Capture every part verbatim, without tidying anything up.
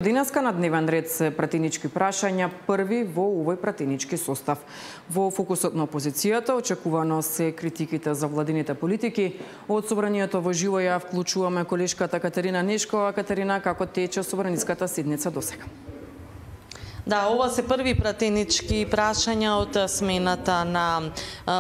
Денеска на дневен ред се пратенички прашања, први во овој пратенички состав. Во фокусот на опозицијата очекувано се критиките за владините политики. Од собранието во живо ја вклучуваме колешката Катерина Нешкова. Катерина, како тече собраниската седница досега? Да, ова се први пратенички прашања од смената на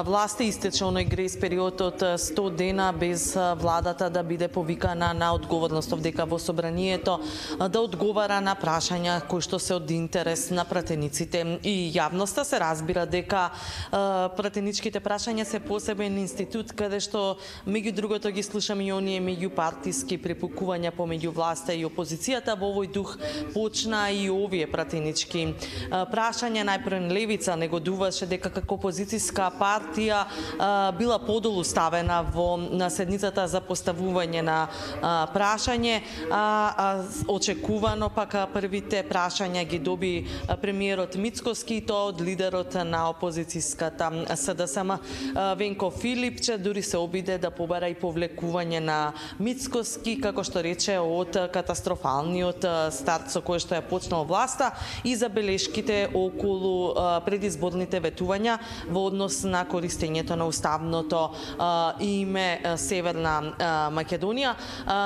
власта. Истече оној грес период од сто дена без владата да биде повикана на одговорност овдека во собранието, да одговара на прашања кои што се од интерес на пратениците и јавноста. Се разбира дека пратеничките прашања се посебен институт каде што меѓу другото ги слушаме и оние меѓупартиски препукувања помеѓу власта и опозицијата. Во овој дух почна и овие пратенички прашања. Најпрво левица негодуваше дека како опозицијска партија била подолу ставена во на седницата за поставување на прашање. Очекувано пак првите прашања ги доби премиерот Мицкоски и тоа од лидерот на опозицијската СДСМ Венко Филипче. Дури се обиде да побара и повлекување на Мицкоски, како што рече, од катастрофалниот старт со кој што ја почнал власта и забелешките околу предизборните ветувања во однос на користењето на уставното име Северна Македонија,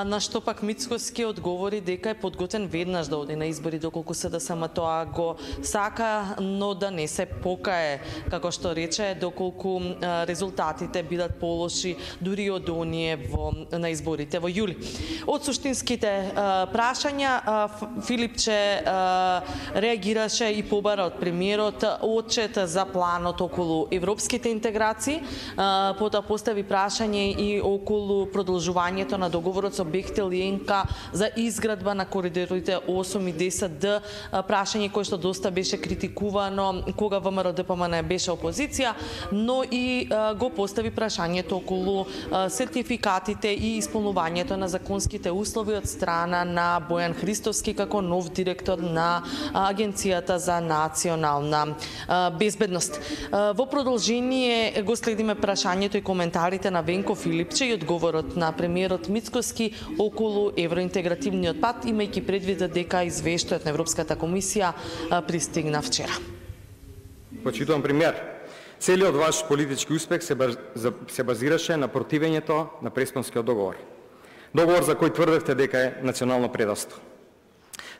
на што пак Мицкоски одговори дека е подготвен веднаш да оди на избори доколку СДСМ тоа го сака, но да не се покае, како што рече, доколку резултатите бидат полоши дури од оние во на изборите во јули. Од суштинските прашања Филипче реагираше и побара од премиерот отчет за планот околу европските интеграции, потоа постави прашање и околу продолжувањето на договорот со Бехтел и ЕНКА за изградба на коридорите осум и десет Д, прашање кое што доста беше критикувано кога ВМРО Д П М Н беше опозиција, но и го постави прашањето околу сертификатите и исполнувањето на законските услови од страна на Бојан Христовски како нов директор на Агенцијата за национална безбедност. Во продолжение го следиме прашањето и коментарите на Венко Филипче и одговорот на премиерот Мицкоски околу евроинтегративниот пат, имајќи предвид дека извештајот на Европската комисија пристигна вчера. Почитувам премиер, целиот ваш политички успех се, баз... се базираше на противењето на Преспанскиот договор. Договор за кој тврдевте дека е национално предавство.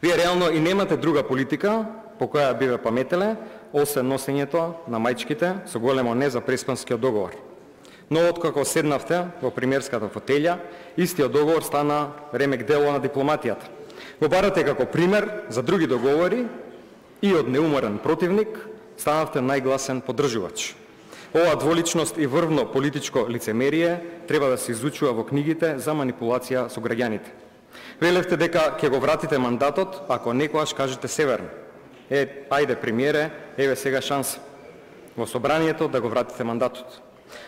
Вие реално и немате друга политика по која биве паметеле, освен носењето на мајчките со големо не за Преспанскиот договор. Но откако седнавте во премиерската фотелја, истиот договор стана ремек дело на дипломатијата. Го барате како пример за други договори и од неуморен противник станавте најгласен поддржувач. Ова дволичност и врвно политичко лицемерие треба да се изучува во книгите за манипулација со граѓаните. Велевте дека ќе го вратите мандатот ако некојаш кажете Северно. Е, ајде премиере, еве сега шанса во собранието да го вратите мандатот.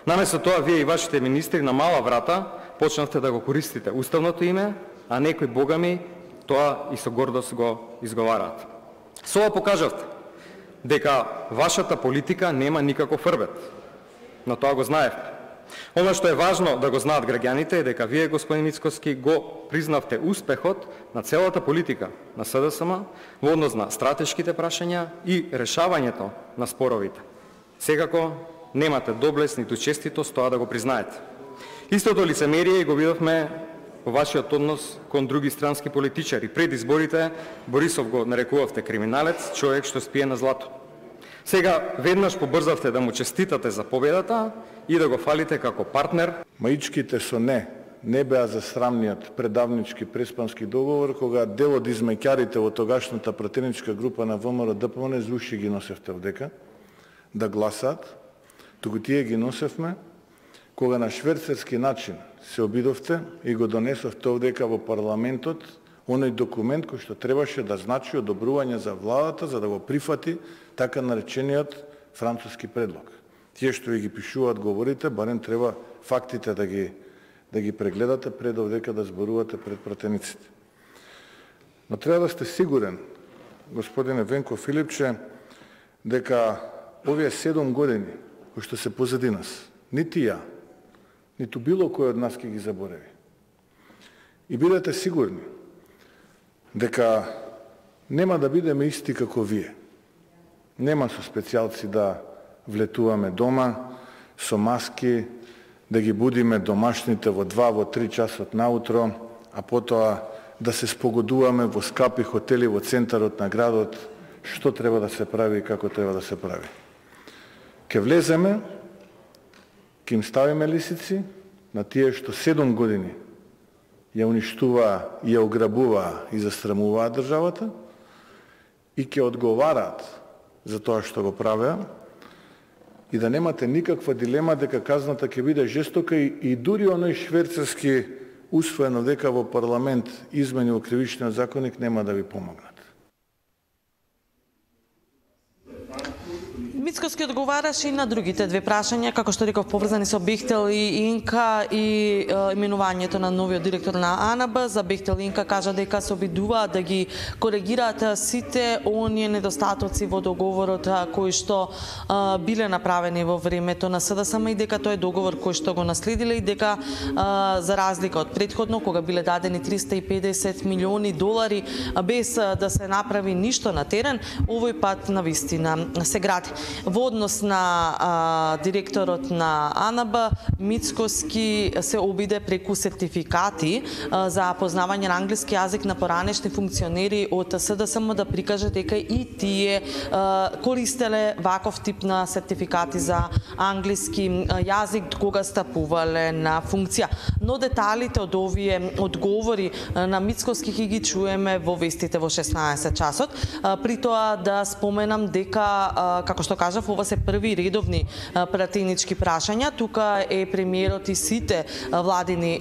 Наместо тоа, вие и вашите министри на мала врата почнавте да го користите уставното име, а некои богами тоа и со гордост го изговараат. Со ова покажавте дека вашата политика нема никаков рвет, но тоа го знаевте. Оно што е важно да го знаат граѓаните е дека вие, господин Мицкоски, го признавте успехот на целата политика на СДСМ во однос на стратешките прашања и решавањето на споровите. Секако немате доблест ниту честитост тоа да го признаете. Истото лицемерие го видовме во вашиот однос кон други странски политичари. Пред изборите Борисов го нарекувавте криминалец, човек што спие на злато. Сега веднаш побрзавте да му честитате за победата и да го фалите како партнер. Маичките со не не беа за срамниот предавнички Преспански договор, кога дел од измеќарите во тогашната пратеничка група на ВМРО Д П М Н зуши ги носевте овдека да гласат, туку тие ги носевме кога на шверцерски начин се обидовте и го донесовте овдека во парламентот оној документ кој што требаше да значи одобрување за владата за да го прифати така наречениот француски предлог. Тие што ви ги пишуваат говорите, барем треба фактите да ги да ги прегледате пред овдека да зборувате пред пратениците. Но треба да сте сигурен, господине Венко Филипче, дека овие седум години кои што се позади нас, нити ја, ниту било кој од нас ќе ги забореви. И бидете сигурни дека нема да бидеме исти како вие. Нема со специјалци да влетуваме дома, со маски, да ги будиме домашните во два, во три часот наутро, а потоа да се спогодуваме во скапи хотели во центарот на градот, што треба да се прави и како треба да се прави. Ке влеземе, ке им ставиме лисици на тие што седум години ја уништуваа, ја ограбуваа и застрамуваа државата и ќе одговараат за тоа што го правеа, и да немате никаква дилема дека казната ќе биде жестока и, и дури оној швейцарски усвоено дека во парламент измени во кривичниот законник нема да ви помогнат. Мицкоски одговараше и на другите две прашања, како што реков, поврзани со Бехтел и Инка и е, именувањето на новиот директор на А Н Б. За Бехтел и Инка кажа дека се обидуваат да ги коригираат сите оние недостатоци во договорот кои што е, биле направени во времето на С Д С М и дека тој е договор кој што го наследиле и дека е, за разлика од претходно кога биле дадени триста и педесет милиони долари без да се направи ништо на терен, овој пат навистина се гради. Во однос на а, директорот на А Н Б, Мицкоски се обиде преку сертификати а, за познавање на англиски јазик на поранешни функционери од С Д С М да прикаже дека и тие а, користеле ваков тип на сертификати за англиски јазик кога стапувале на функција. Но деталите од овие одговори на Мицкоски ќе ги чуеме во вестите во шеснаесет часот. А, при тоа да споменам дека, а, како што кажав, ова се први редовни пратенички прашања. Тука е премиерот и сите владини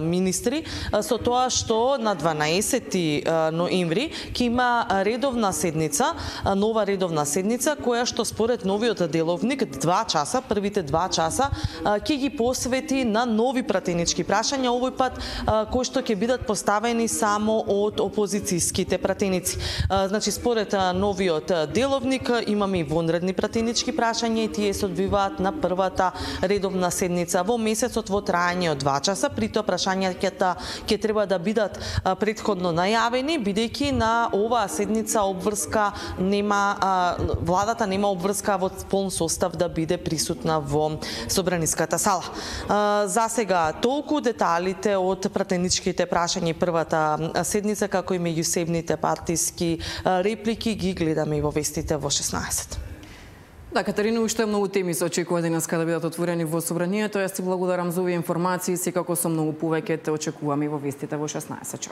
министри, со тоа што на дванаесети ноември ќе има редовна седница, нова редовна седница, која што според новиот деловник два часа, првите два часа, ќе ги посвети на нови пратенички прашања, овој пат кои што ќе бидат поставени само од опозицијските пратеници. Значи, според новиот деловник имаме и вонредни пратенички прашања и тие се одвиваат на првата редовна седница во месецот во трајање од два часа. При тоа прашањата ќе треба да бидат претходно најавени, бидејќи на оваа седница обврска нема, владата нема обврска во полн состав да биде присутна во собраниската сала. За сега толку. Деталите од пратеничките прашања и првата седница, како и меѓусебните партиски реплики ги гледаме и во вестите во шеснаесет. Да, Катерина, уште многу теми се очекува денеска да бидат отворени во собранието. Јас ти благодарам за овие информации, секако со многу повеќе те очекувам и во вестите во шеснаесет.